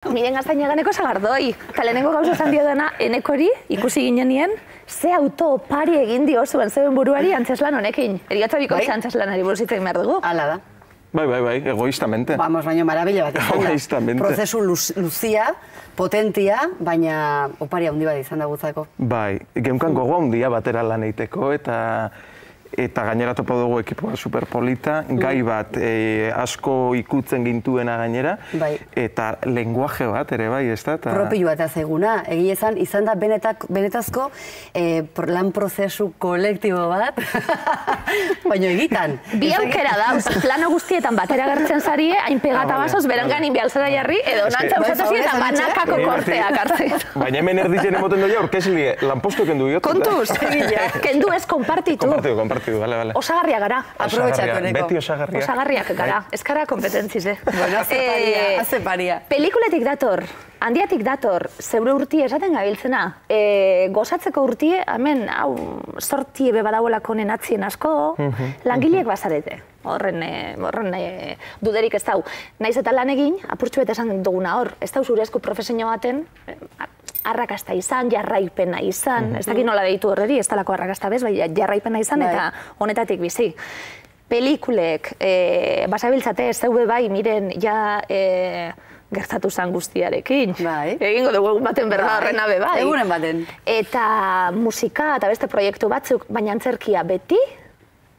Miren Gaztainaganeko Sagardoi. Eta lehenengo gauza esan dio dena, enekori, ikusi ginenien, ze auto pari egin dio zuen zeuen buruari antzeslan honekin. Eriotza bikoitza antzeslanari buruz hitz egin behar dugu. Hala da. Bai, egoistamente. Vamos, baina marabila bat izan da. Egoistamente. Prozesu luzia, potentia, baina opari handi bat izan da gutzako. Bai, geunkan gogo handia batera lan eiteko eta gainera topo dugu ekipoa superpolita, gai bat asko ikutzen gintuena gainera, eta lenguaje bat ere bai, ez da? Propio bat azeguna, egia izan da benetazko lan prozesu kolektibo bat, baina egitan. Bi aukera da, plano guztietan batera gertzen zarie, hain pegata basoz, berangan inbialzera jarri, edo nantza usatozietan banakako korteak hartzen. Baina hemen erditzen emoten doia, orkesili, lanpostu kendu diot. Kontuz, kendu ez konpartitu. Vale. Osagarria gara. Aprobetxatu neko. Beti osagarriak. Osagarriak gara. Ez gara kompetentziz, Bueno, haze paria. Pelikuletik dator, handiatik dator, zeure urtie esaten gabiltzena. Gozatzeko urtie, hemen, hau, sortie bebadauelako nenatzien asko, langileek bazarete. Horren duderik ez dau. Naiz eta lan egin, apurtxu bete esan duguna hor, ez dau zure esku profesionio baten, arrakasta izan, jarraipena izan, ez dakit nola deitu horreri, ez talako arrakasta bez, bai jarraipena izan eta honetatik bizi. Pelikulek, basabiltzate, zeube bai, miren, ja gertatu zan guztiarekin. Egingo dugu egun baten berda horrena be bai. Egunen baten. Eta musika eta beste proiektu batzuk, baina antzerkia beti,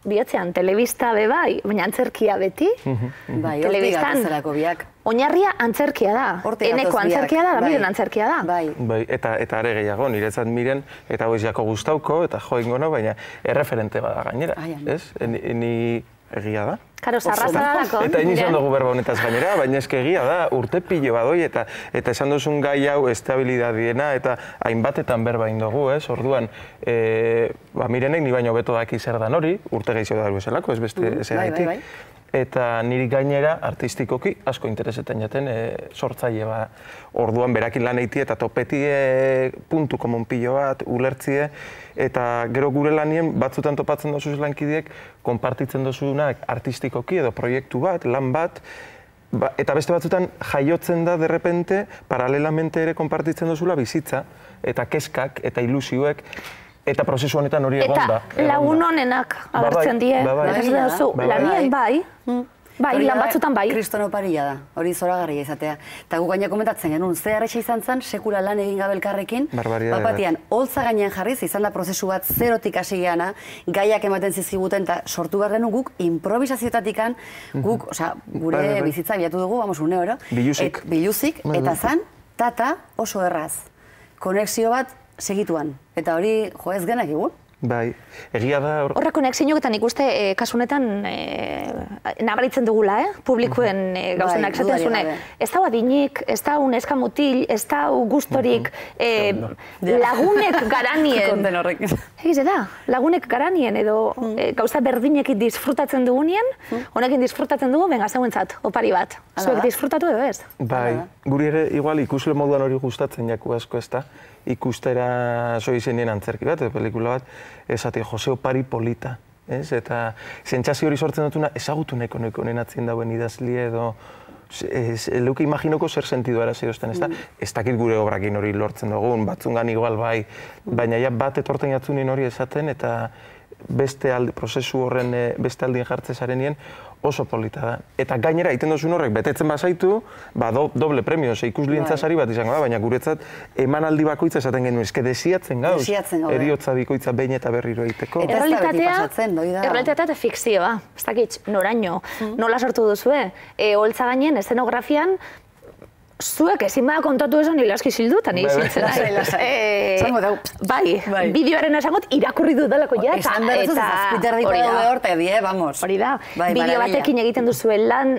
bihotzean, telebista be bai, baina antzerkia beti. Bai, hortik gatezarako biak. Oinarria antzerkia da. Eneko antzerkia da, miren antzerkia da. Bai, eta are gehiago, niretzat miren, eta hoiz jako gustauko, eta jo ingono, baina erreferente bada gainera. Ez? Ni egia da. Karo, zarraza dalako. Eta izan dugu berba honetaz gainera, baina eske egia da, urte pilo badoi, eta esan duzun gai hau estabilidadiena, eta hainbatetan berba indogu, ez? Orduan, mirenek ni baino beto daki zer dan hori, urte gehiago da ezelako, ez beste ezagaitik. Eta niri gainera, artistikoki, asko interesetan jaten sortzaile ba. Orduan berakin lan eiti eta topeti puntu komon pilo bat, ulertzie, eta gero gure lanien batzutan topatzen dozuz lankideek, konpartitzen dozunak artistikoki edo proiektu bat, lan bat, eta beste batzutan jaiotzen da derrepente, paralelamente ere konpartitzen dozula bizitza, eta keskak, eta ilusioek, eta prozesu honetan hori egon da. Eta lagun honenak agertzen die, lanien bai, lan batzutan bai. Kristono paria da, hori zoragarria izatea. Eta gu gaina komentatzen genuen, ze arretxa izan zen, sekula lan egin gabelkarrekin, bapatian, holtza gainean jarriz, izan da prozesu bat zerotik hasi geana, gaiak ematen zizkiguten, eta sortu behar genuen guk, improvisazioetatikan, guk, gure bizitza bilatu dugu, une oro. Biluzik, eta zan, tata oso erraz. Konexio bat segituan. Eta hori, jo ez genak egun? Bai, egia da... Horra konexioak eta nik uste kasunetan nabaritzen dugula, publikoen gauzenak esaten zune. Ez da adinik, ez da neska mutil, ez da gustorik, lagunek garanien. Konten horrek. Egiz da, lagunek garanien edo gauza berdinekin disfrutatzen dugunien, honekin disfrutatzen dugu, benga zauentzat, opari bat. Zuek disfrutatu edo ez? Bai, guri ere, igual, ikusle moduan hori gustatzen jaku asko ez da. Ikustera so izenien antzerki bat, edo pelikula bat, esati Jose Opari polita. Eta sentsazio hori sortzen dutuna, ezagutu nahiko honen atzien dauen idazlia edo leuke imaginoko zer sentidu ara zehozten, ez da? Ez dakit gure obrakin hori lortzen dugun, batzungan igual bai, baina ja bat etorten jatzunin hori esaten, eta beste prozesu horren beste aldien jartze zarenien oso polita da. Eta gainera, egiten duzun horrek, betetzen bazaitu, doble premio, ikuslientza sari bat izango da, baina guretzat emanaldi bakoitza esaten genuen, eske desiatzen gauz, eriotza bikoitza behin eta berriro egiteko. Errealitatea eta fikzioa, ez dakit, noraino, nola sortu duzue, holtza gainen, eszenografian, zuek ezin bada kontatu esan hilaski zildu, eta nire ziltzen da. Bai, bideoaren esangot irakurri dudalako ja, eta hori da. Bideo batekin egiten duzuen lan,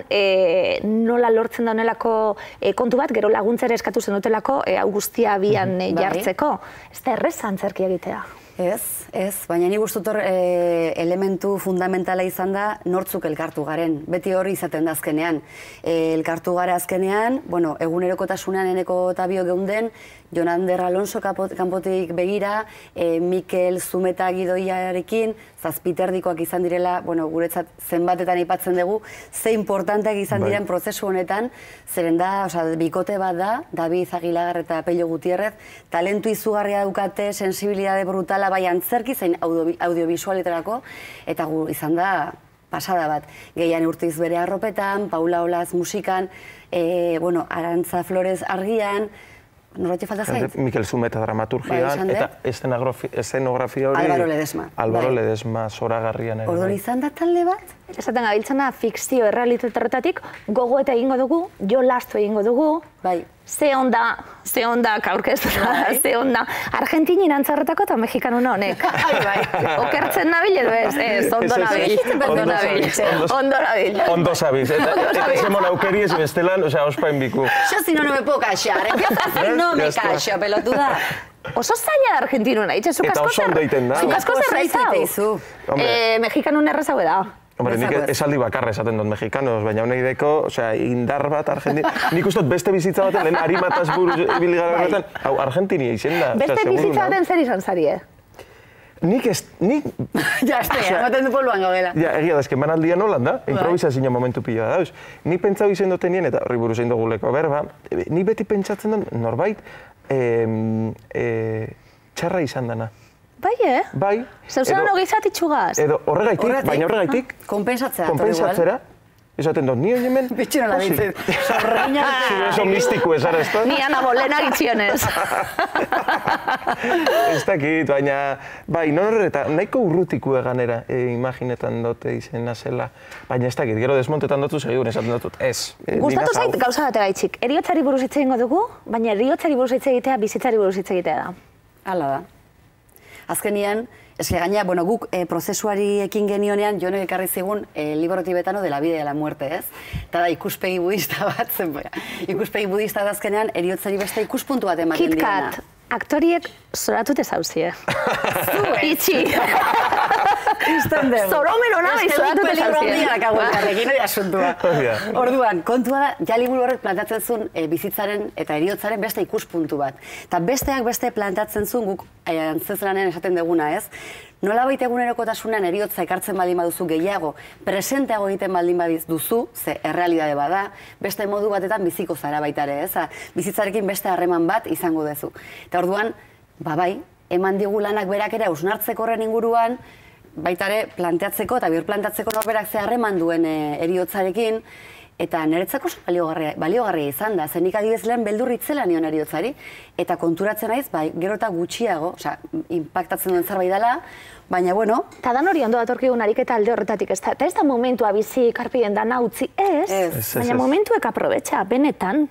nola lortzen da honelako kontu bat, gero laguntzera eskatu zen dutelako, hau guztia abian jartzeko. Ez da errez antzerkia egitea. Ez, baina ni gustut elementu fundamentala izan da nortzuk elkartu garen. Beti hori izaten da azkenean. Elkartu gara azkenean, egunerokotasunean eneko eta bio geunden, Jon Ander Alonso kanpotik begira, Mikel Zumeta gidoiarekin, zazpiterdikoak izan direla, guretzat zenbatetan aipatzen dugu, ze importanteak izan diren prozesu honetan, zeren da, bikote bat da, David Aguilar eta Pello Gutierrez, talentu izugarria daukate, sensibilidade brutala, bai antzerki, zein audiovisualetarako, eta izan da pasada bat. Gehian Urtiz bere arropetan, Paula Olaz musikan, Arantza Flores argian, norrati falta zait? Mikel Zumeta dramaturgian, eta eszenografia hori... Álvaro Ledesma. Álvaro Ledesma zoragarrian ere. Orduan izan da talde bat? Esaten gabiltzena fikzio errealitaterretatik gogo eta egingo dugu, jo lastu egingo dugu, ze onda aurkeztuta, ze onda Argentinin antzarretako eta mexikanuna honek. Okertzen nabil edo ez, ondo nabil. Ondo zabiz. Eta zemon aukeri ez bestelan, ospain biku. Yo si no me puedo callar, empieza así, no me callo, pelotuda. Oso zaila da argentinuna, itxe, zuk asko zerrezau. Mexikanun errezau da. Hombre, nik esaldi bakarra esaten dut mexikanos, baina honei deko, indar bat Argentina... Nik uste dut beste bizitza baten, lehen harimataz buruz ibili gara horretan, hau, Argentinia izen da. Beste bizitza baten zer izan zari, Nik ez... Ja, ematen du polboan gaudela. Ja, egia da, ezken banaldian holan da, improvisazio momentu pila da, dauz. Ni pentsau izen duten nien, eta horri buruz egin duguleko berba, ni beti pentsatzen dut norbait txarra izan dana. Bai, Bai. Zeuzen hogizat itxugaz. Edo horregaitik, baina horregaitik... Konpensatzera. Esaten dut, ni hori hemen... Bitxino la ditzen, sorreina... Zure oso mistiko ez, ara, ez da? Ni Ana Bolena gitxionez. Ez dakit, baina... Bai, eta nahiko urrutiku eganera imaginetan dute izena zela. Baina ez dakit, gero desmontetan dutu segidur esaten dutut, ez. Gustatu zait gauza bat gaitxik. Eriotzari buruz hitz egingo dugu, baina eriotzari buruz hitz egitea, bizitzari buruz hitz egitea da. Hala da. Azkenian, eske gaina, guk prozesuari ekin genionean, Jonek ekarri zigun libro tibetano de la vida y de la muerte, ez? Eta da, ikuspegi budista bat zen, ikuspegi budista da azkenean, eriotzari beste ikuspuntu bat ematen diena. KitKat, aktoriek zoratute zauzie. Itxi. Zoromen hona bai zoratute zauzie. Orduan, kontua da, ja liburu horrek plantatzen zuen bizitzaren eta eriotzaren beste ikuspuntu bat. Eta besteak beste plantatzen zuen guk antzezlanen esaten deguna, ez? Nolabait egunerokotasunean eriotza ekartzen baldin baduzu gehiago, presenteago egiten baldin baduzu, ze errealidade bada, beste modu batetan biziko zara baita ere, ez? Bizitzarekin beste harreman bat izango duzu. Eta orduan, bai, eman digu lanak berak ere hausnartzeko horren inguruan, baita ere planteatzeko eta birplantatzeko norberak ze harreman duen eriotzarekin, eta niretzako baliogarria izan da, zenik adibidez lehen beldurritzela nion eriotzari, eta konturatzen naiz, gero eta gutxiago, impactatzen duen zerbait dela, baina, Eta dan hori ondo datorkigun ariketa alde horretatik, eta ez da momentua bizi karpien dana utzi, baina momentuek aprobetxa, benetan,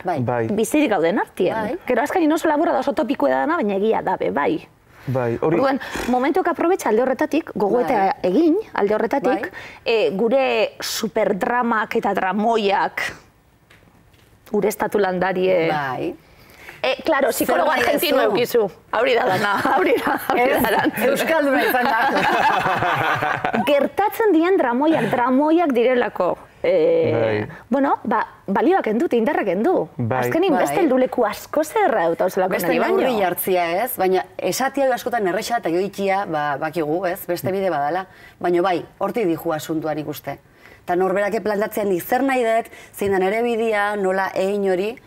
bizirik gauden artien. Gero azkari oso laburra da oso topiko edana, baina egia dabe, bai. Orduan, momentuak aprobetxa alde horretatik, gogoeta egin alde horretatik, gure superdramak eta dramoiak gure estatu landarie... Claro, psikologo argentino eukizu. Hauri da dana, hauri da. Euskalduna izan da. Gertatzen dien dramoiak direlako. Balioak endut, indarrak endu. Azkenin beste helduleku asko zerra dut hauzelako nahi baino. Beste neurri jartzia, ez? Baina esatia askotan erresa eta joitia bakigu, ez? Beste bide badala. Baina bai, hortik dihu asuntuan ikuste. Eta norberake plantatzean zer nahi dut, zein da nere bidea, nola egin hori,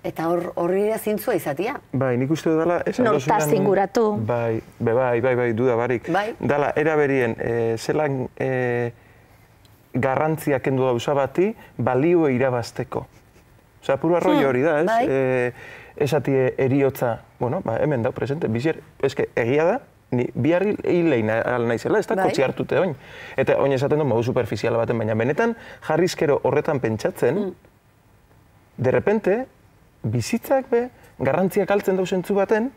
eta horri da zintzua izatia. Bai, nik uste dudala... Nortaz zinguratu. Bai, duda barik. Dala, eraberien, zelan garrantzia kendu dauza bati, balio irabazteko. Osa, puro arroi hori da, ez? Esatie eriotza, hemen da, presente, bizier, eske, egia da, biharri hilein naizela, ez da kotxi hartute oin. Eta oin esaten du modu superficiala baten, baina benetan jarrizkero horretan pentsatzen, de repente, bizitzak garrantziak altzen dauzentzu baten,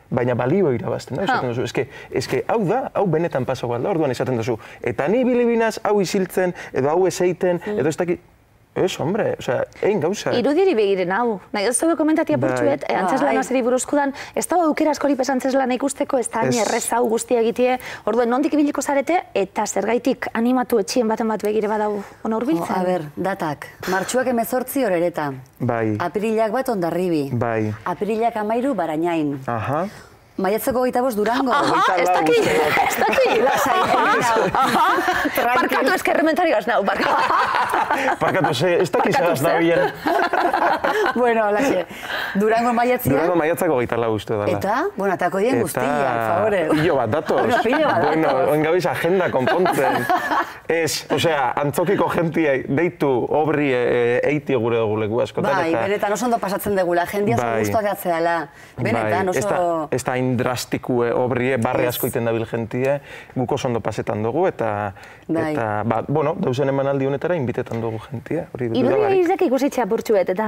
baina balio irabazten da, esaten duzu. Eske, hau da, hau benetan paso balda, orduan esaten duzu. Eta ni bilibinaz hau isiltzen, edo hau eseiten, edo ez dakit, Ez, hombre, osea, egin gauza. Irudiri begiren hau. Nahi, ez dugu komentatia portxuet, antzeslan azeri buruzkudan, ez dago aukera askori pes antzeslana ikusteko, ez da errez hau guztia egitie, orduen nondik ibiliko zarete, eta zergaitik animatu etxien baten bat begire badau ona hurbiltzen? A ber, datak, martxuak 18 horereta. Bai. Apirilak bat Hondarribi. Bai. Apirilak 13 Barañain. Aha. Maiatzeko 25 Durango. Ez daki. Parkatu eskerrementari gaznau, Parkatu, ez daki gaznau bien. Bueno, alaxe. Durango maiatzia. Durango maiatzako 24 uste dela. Eta, bueno, atako dien guztiak, favore. Pilo bat datoz. Bueno, oingabiz agenda konpontzen. Ez, osea, antzokiko jentia deitu obri eiti gure dugu leku askotan. Bai, benetan oso ondo pasatzen dugula, jendia oso guztuak atzeala. Benetan oso... Ez da drastikue obrie, barri asko iten dabil jentie, guk oso ondo pasetan dugu, eta, bueno, dauzen emanaldi honetara inbitetan dugu jentie. Irudia izak ikusitzea burtsuet, eta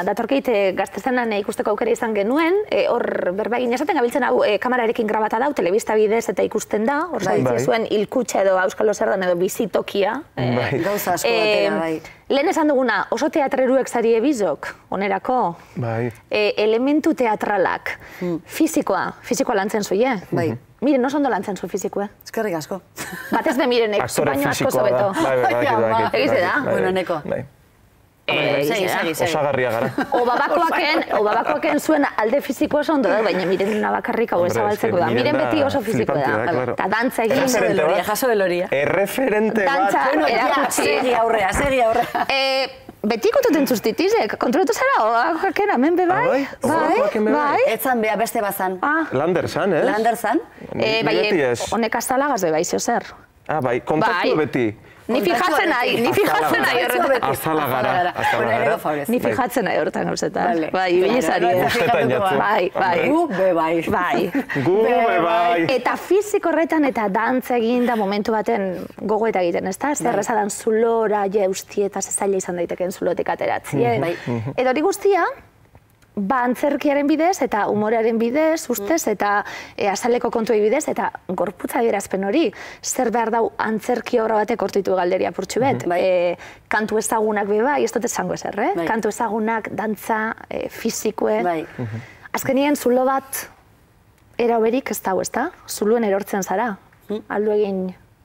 datorkeit gaztezenan ikusteko aukera izan genuen, hor berbegin esaten gabiltzen hau kamerarekin grabata dau, telebista bidez eta ikusten da, hor zabitzia zuen hilkutxa edo Auskalo Zerdan edo bizitokia. Gauza asko batera, bai. Lehen esan duguna, oso teatreruek zari ebizok, onerako, elementu teatralak, fizikoa lantzen zuie. Bai. Miren, oso ondo lantzen zu fizikoa. Eskerrik asko. Batez bemirene, baina asko zobeto. Egize da? Bueno, neko. Osagarria gara. Obabakoaken zuen alde fiziko oso ondo da, baina miren nabakarrik hau ezabaltzeko da. Miren beti oso fiziko da. Eta dantza egin. Jaso beloria. Erreferente bat. Dantza erakutsi. Segi aurrea. Beti kontuten zuztitizek, kontroletu zara, oakakera, men be bai? Bai. Etzan beha beste bazan. Lander zan, ez? Lander zan. Bai, honek aztalagaz be bai, zer. Bai, kontaktu beti. Ni fijatzen nahi horretan. Azala gara. Ni fijatzen nahi horretan gauzetan. Bai, ibilezari. Bai. Gu be bai. Gu be bai. Eta fiziko horretan eta dantza egin da momentu baten gogoeta egiten, ezta? Zer ezadan zulora, jeusti eta zezaila izan daiteken zulotek ateratzi. Eta hori guztia, antzerkiaren bidez eta umorearen bidez, ustez, eta azaleko kontuei bidez, eta gorputza adierazpen hori, zer behar dau antzerki obra batek hortitu galderia purtsu bet. Kantu ezagunak be bai, ez dut esango ezer, kantu ezagunak, dantza, fizikue. Azkenien, zulo bat era oberik ez dau, ezta? Zuluen erortzen zara, aldu egin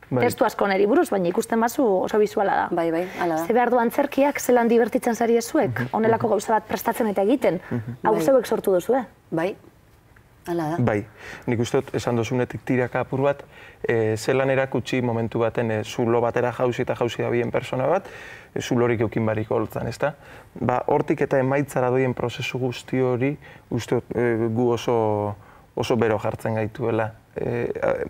testu asko neri buruz, baina ikusten bazu oso bizuala da. Bai, ala da. Ze behar du antzerkiak, zelan divertitzen zari ezuek, honelako gauza bat prestatzen eta egiten, hau zeuek sortu duzue. Bai, ala da. Bai, nik uste dut esan dozunetik tiraka apur bat, zelan erakutsi momentu baten zulo batera jauzi eta jauzi da bien persona bat, zulorik eukin bariko holtzan, ezta? Hortik eta emaitzara doien prozesu guzti hori, uste dut gu oso bero jartzen gaituela.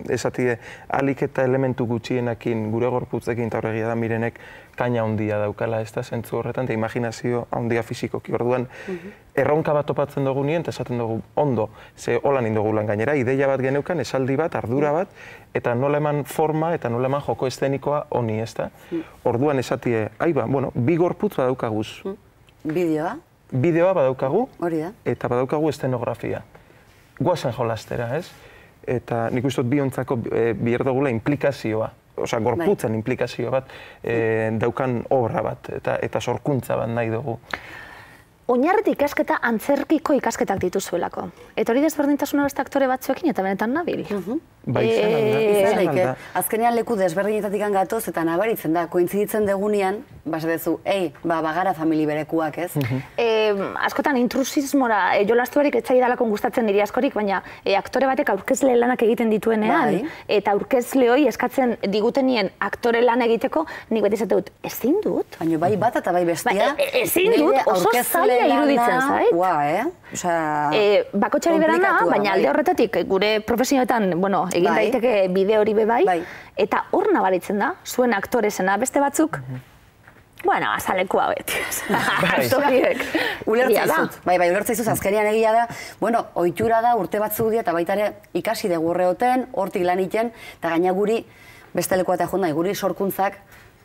Esatie, alik eta elementu gutxienakin, gure gorputzekin eta horregia da mirenek kaina handia daukala, ez da, zentzu horretan, eta imaginazio handia fizikoki. Orduan, erronka bat topatzen dugu nien, eta esaten dugu ondo, ze holan indogulan gainera, ideia bat geneukan, esaldi bat, ardura bat, eta nola eman forma eta nola eman joko eszenikoa honi, ez da. Orduan esatie, bueno, bi gorputz badaukaguz. Bideoa? Bideoa badaukagu, hori da. Eta badaukagu estenografia. Guazen jolastera, ez? Eta nik uste dut biontzako biher dugula implikazioa, osea, gorputzen implikazio bat, daukan obra bat, eta sorkuntza bat nahi dugu. Oinarriti ikasketa antzerkiko ikasketak dituzuelako. Eta hori desberdintasuna beste aktore batzuekin eta benetan nabil. Bai, izan alda. Azkenean leku desberdinetatik gatoz eta nabaritzen da, kointziditzen degunean, basatezu, bagara famili berekuak, ez? Askotan intrusismora jolastu barik etxai dalako gustatzen niri askorik, baina aktore batek aurkezle lanak egiten dituenean, eta aurkezle hori eskatzen digutenien aktore lan egiteko, nik beti zate dut, ezin dut? Baina bai bat eta bai bestia. Ezin dut, oso zaila iruditzen zait. Bakotxari berana, baina alde horretatik, gure profesionetan, egin daiteke bideo hori bebai, eta hor nabaritzen da, zuen aktorezena beste batzuk, azalekua beti. Ulertzaizut, ulertzaizut, azkenean egia da, ohitura da, urte batzuk dira, eta baita ere ikasi dugu horreoten, hortik lan iten, eta gaina guri, beste lekua eta jonda, guri sorkuntzak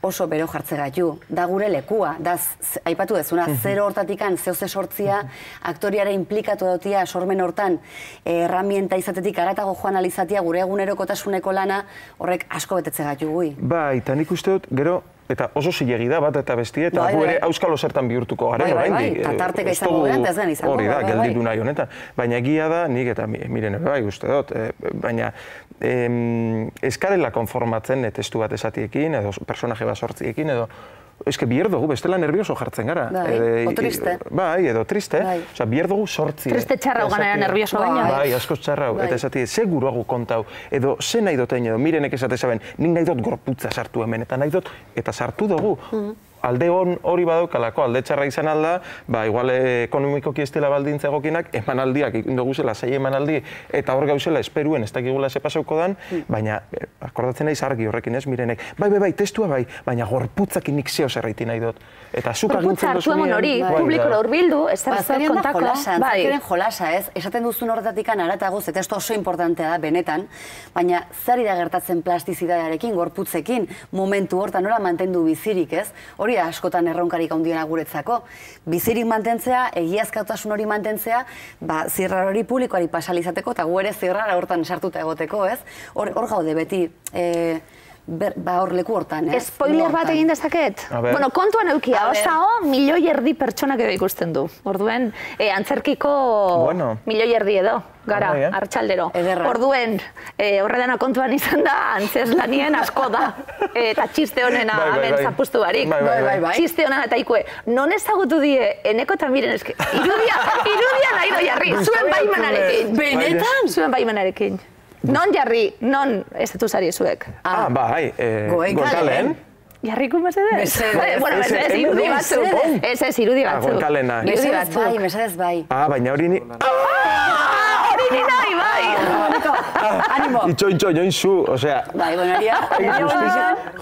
oso bero jartze gaitu. Da gure lekua, da aipatu dezuna, zero hortatikan, zehoze sortzia, aktoriare implikatu dautia, sormen hortan, herramienta izatetik aratago joan alizatia, gure egunerokotasuneko lana, horrek asko betetze gaitu gui. Ba, eta nik uste dut, gero, Eta oso zilegi da bat eta bestie, eta gu ere auskalo zertan bihurtuko garen, oraindik. Eta tarteka izango gehan, ez gen izango. Hori da, gelditu nahi honetan. Baina egia da, nik eta miren bai, uste dut, baina eskarela konformatzen testu bat esatiekin, edo personaje bat sortziekin, edo eske bier dugu, bestela nervioso jartzen gara. O triste. Bai, edo triste. Osea, bier dugu sortzi. Triste txarrau ganera nervioso baina. Bai, asko txarrau. Eta esatie, seguru hagu kontau, edo ze nahi dotein edo, mirenek esate zaben, nik nahi dut gorputza sartu hemen, eta nahi dut, eta sartu dugu. Alde hori badaukalako, alde txarra izan alda, igual ekonomikoki ez dela baldintza egokinak, emanaldiak dugu zela, 6 emanaldi, eta hor gauzela esperuen ez dakigula ze pasauko dan, baina, akordatzen naiz argi horrekin ez, mirenek, bai, testua bai, baina gorputzakin nik zeo zerraiti nahi dut. Eta zuk agintzen dozunean... Gorputza hartu hori, publikora urbildu, ez da kontako. Antzakeren jolasa ez, esaten duzun horretatik aratagoz, eta esto oso importantea da, benetan, baina zer da gertatzen plastizidadearekin, gorputzekin, momentu hortan nola mantendu bizirik ez, hori askotan erronkarik handiena guretzako. Bizirik mantentzea, egiazkatasun hori mantentzea, zirrar hori publikoari pasalizateko, eta gu ere zirrar hortan sartuta egoteko, ez? Hor gaude beti, hor leku hortan, ez? Spoiler bat egin dezaket? Bueno, kontuan eukia, osao, 1,5 milioi pertsonak edo ikusten du. Orduen, antzerkiko 1,5 milioi edo, gara, hartxaldero. Orduen, horredana kontuan izan da, antzeslanien asko da. Eta txiste honena hemen zapustu barik. Txiste honena eta ikue, non ezagutu die, eneko eta miren eske, irudia nahi do jarri, zuen baimenarekin. Benetan? Zuen baimenarekin. Non jarri, non estatu zari zuek? Bai, Goenkalen. Jarriko mesedez? Mesedez. Bueno, mesedez irudi batzu. Ez irudi batzu. Goenkalena. Mesedez bai. Baina hori ni... Hori ni nahi, bai! Animo. Itxo, join zu, osea... Bai, bonaria.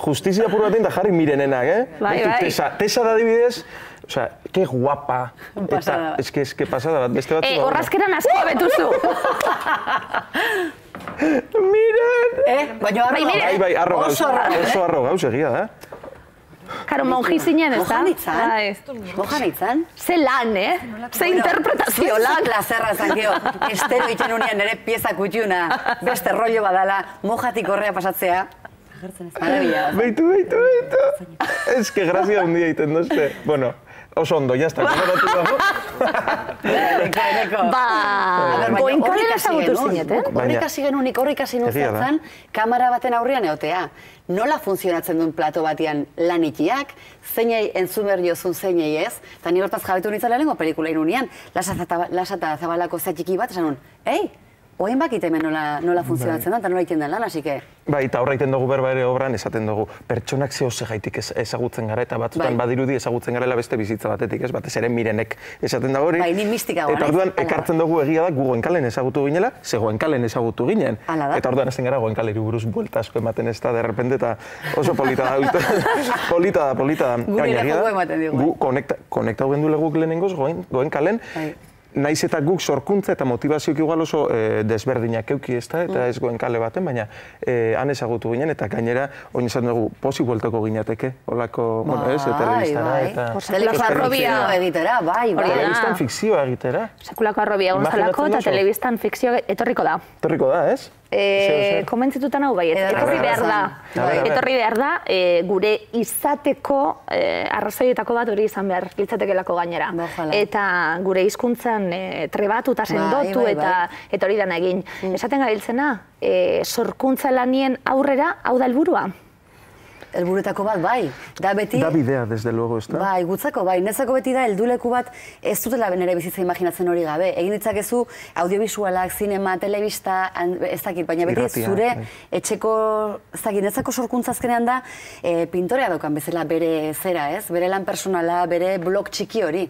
Justizia puru batean da jarri mirenenak, Bai. Tesa da dibidez, osea, que guapa. Pasada. Ez que pasada bat, beste batzu... Horrazkeran asko abetuzu. Miren! Baina arro. Bai, arro gauz. Oso arro gauz egia da. Karo, monji zinen, ez da? Mojan itzan? Ze lan, Ze interpretazio lan. Plazerra zankio, estero itxen unian nire pieza kutxuna, beste rollo badala, mojatik horrea pasatzea. Marabila. Beitu. Ez que grazia hundia iten dozte. Bueno, oso ondo, jazta, konaratu dago. Goenkalen ezagutu zineten? Horrik hasi nuen kamera baten aurrean egotea. Nola funtzionatzen duen plato batean lanikiak, zeinei entzumer jozun zeinei ez, eta ni hortaz jabetu nintzen lehenengo pelikula inunean, lasata zabalako zatxiki bat, esan nuen, oen bakit hemen nola funtzionatzen da, eta nola iten den lan, hasi que... Bai, eta horra iten dugu berba ere obran, esaten dugu, pertsonak zehose gaitik ezagutzen gara, eta batzutan badirudi ezagutzen garela beste bizitza batetik, ez? Batez ere mirenek esaten da hori. Bai, ni mistika goan, eta orduan, ekartzen dugu egia da, gu Goenkalen ezagutu ginela, ze Goenkalen ezagutu ginen. Eta orduan ezten gara Goenkaleri buruz buelta asko ematen ez da, derrepente, eta oso polita da. Polita da. Guri lehoko ematen digu. Gu konektau gendu leguk lehenengoz Goenkalen, naiz eta guk sorkuntza eta motivazioak igual oso desberdinak euki ez da, eta ez Goenkale baten, baina han ezagutu ginen, eta gainera, oin esan dugu, posi bueltako ginateke, holako, ez, telebistara, eta... Telebistan fikzioa egitera, bai. Telebistan fikzioa egitera. Sekulako arrobia gonzalako, eta telebistan fikzioa etorriko da. Etorriko da, ez? Komentzitutan hau bai, etorri behar da. Etorri behar da, gure izateko arrazoietako bat hori izan behar litzatekelako gainera. Eta gure hizkuntzan trebatuta sendotu eta hori dana egin. Esaten gabiltzena, sorkuntza lanien aurrera, hau da helburua? Helburuetako bat, bai. Da beti... Da bidea, desde luego, ez da? Bai, gutzako, bai. Netzako beti da, helduleku bat ez dutela nire bizitza imaginatzen hori gabe. Egin ditzakezu audiovisualak, zinema, telebista, ez dakit, baina beti zure etxeko, ez dakit, netzako sorkuntza azkenean da, pintorea daukan bezala bere zera, ez? Bere lan personala, bere blog txiki hori.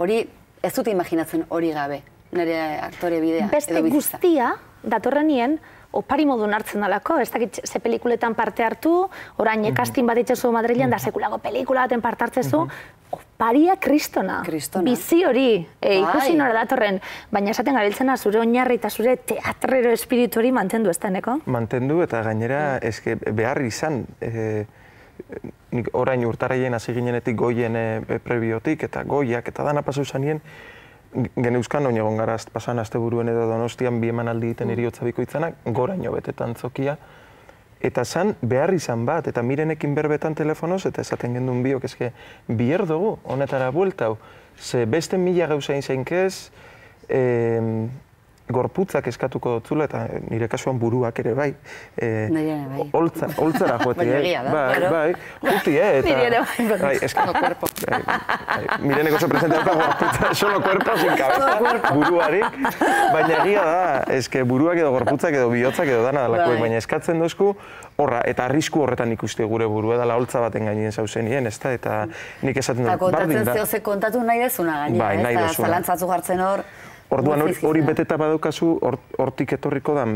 Hori, ez dute imaginatzen hori gabe, nire aktore bidea. Beste guztia, datorrenien, opari modun hartzen dalako, ez dakit ze pelikuletan parte hartu, orain casting bat itxasu Madrilean, da sekulako pelikula baten parte hartzezu, oparia kristona. Bizi hori, ikusi nora datorren, baina esaten gabiltzena zure oinarri eta zure teatrero espiritu hori mantendu ez deneko? Mantendu eta gainera eske behar izan, orain urtarraien hasi ginenetik goien prebiotik eta goiak eta dana pasau zanien, geneuzkan oin egon gara pasan asteburuen edo Donostian 2 emanaldi egiten heriotza bikoitzanak, goraino betetan zokia, eta zan behar izan bat, eta mirenekin berbetan telefonoz, eta esaten gendun biok, eske, bier dugu, honetara bueltau. Ze beste mila gauza inzainkez, gorputzak eskatuko dotzula, eta nire kasuan buruak ere bai. Holtzara joete, bai, juti, eta... Nire ere bai, solo cuerpo. Mireneko oso presente dauka gorputza, solo cuerpo, sin cabeza, buruarik. Baina egia da, eske buruak edo gorputzak edo bihotzak edo dana dalakoek, baina eskatzen dozku, horra, eta arrisku horretan ikuste gure burua dela holtza baten gainien zauzenien, ez da, eta nik esaten dut, bardin da. Eta kontatzen ze kontatu nahi dezuna gainera, ez da, zalantzatzu jartzen hor. Orduan hori beteta badaukazu, hortik etorriko da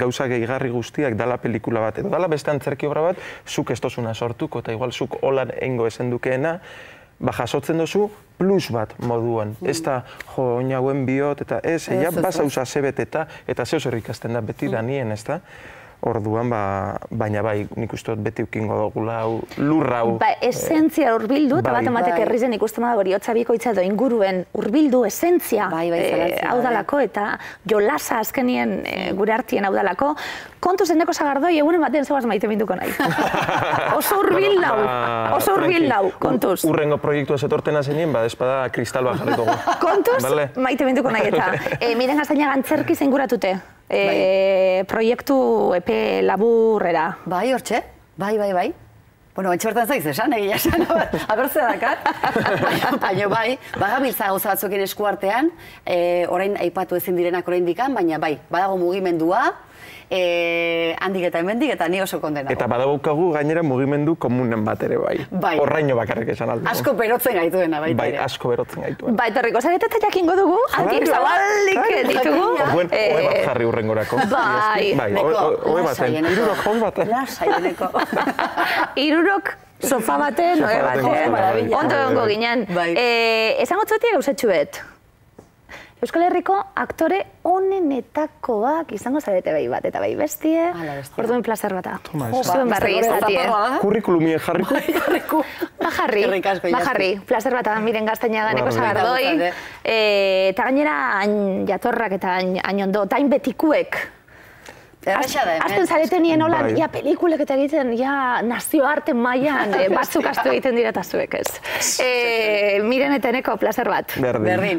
gauza gehigarri guztiak dala pelikula bat, edo dala beste antzerki obra bat, zuk ez tozuna sortuko, eta igual zuk holan engo esen dukeena, jasotzen dozu plus bat moduan. Ez da, jo, oinauen bihot, eta ez, basauza zebeteta, eta zeo zer ikasten da beti da nien, ez da? Orduan, baina bai, nik uste dut beti ukingo dugula, lurra hau. Esentzia urbildu, eta bat ematek herrizen ikusten da hori hotza bikoitza edo inguruen urbildu esentzia hau dalako, eta jolasa azkenien gure artien hau dalako. Kontu zendeko zagardoi, egunen batean zeuaz maite minduko nahi. Oso urbil dau, kontuz. Urrengo proiektua zetortena zenien, espada kristal bat jarriko gu. Kontuz, maite minduko nahi eta. Miren gaztaina gantzerki zenguratute. Proiektu epe laburrera. Bai, hortxe? Bai. Bueno, etxe bertan zaiz esan, egia esan, abertze dakat. Baina bai, bagabiltza gauza batzuekin eskuartean, orain aipatu ezin direnak orain dikan, baina bai, badago mugimendua, handik eta hemendik eta ni oso kondenago. Eta badaukagu gainera mugimendu komunen bat ere bai. Horraino bakarrik esan aldo. Asko berotzen gaituena baita ere. Bai, asko berotzen gaituena. Bai, torriko zarete eta jakingo dugu, handik zabalik ditugu. Orduan, oe bat jarri urrengorako. Bai. Oe baten, irurok hon baten. Lasai deneko. Irurok sofa baten, oe baten. Ondo egongo ginen. Esango txotik gauzetxuet. Euskal Herriko aktore onenetakoak izango zarete bai bat eta bai bestie. Orduan plazer bata. Zuen barri izatie. Kurrikulumien jarriko? Bajarri. Plazer bata miren Gaztañaga neko zagardoi. Eta gainera hain jatorrak eta hain ondo, eta hain betikuek. Azten zareten nien holan, pelikulek eta egiten, nazioarte mailan batzuk astu egiten dira eta zuek ez. Miren eteneko plazer bat. Berdin.